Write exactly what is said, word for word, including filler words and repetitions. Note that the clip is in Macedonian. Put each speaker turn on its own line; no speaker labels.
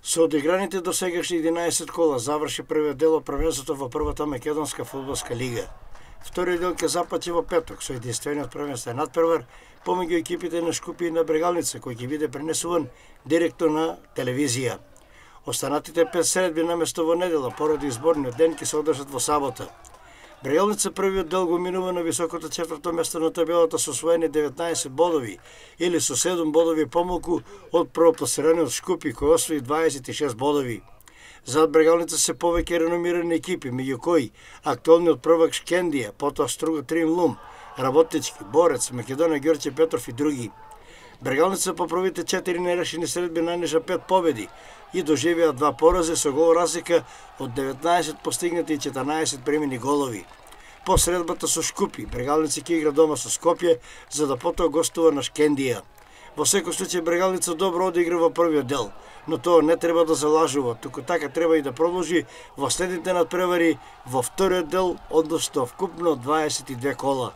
Со одиграните до сегашни единаесет кола заврши првиот дел од првенството во првата македонска фудбалска лига. Вториот дел ќе започне во петок со единствениот првенствен надпревар помеѓу екипите на Шкупје и на Брегалница, кој ќе биде пренесуван директно на телевизија. Останатите пет средби наместо во недела поради изборниот ден ќе се одржат во сабота. Брегалница првиот дел го минува на високото четврто место на табелата со освоени деветнаесет бодови или со седум бодови помалку од првопласираниот Шкупје кој освои дваесет и шест бодови. Зад Брегалница се повеќе реномирани екипи, меѓу кои актуелниот првак Шкендија, потоа Струга Трим Лум, Работнички, Борец, Македонија Ѓорче Петров и други. Брегалница по првите четири нерешени средби нанижа пет победи и доживеа два порази со гол разлика од деветнаесет постигнати и четрнаесет примени голови. По средбата со Шкупје, Брегалница ќе игра дома со Скопје, за да потоа гостува на Шкендија. Во секој случај Брегалница добро одигра во првиот дел, но тоа не треба да залажува, туку така треба и да продолжи во следните надпревари во вториот дел, односно вкупно дваесет и две кола.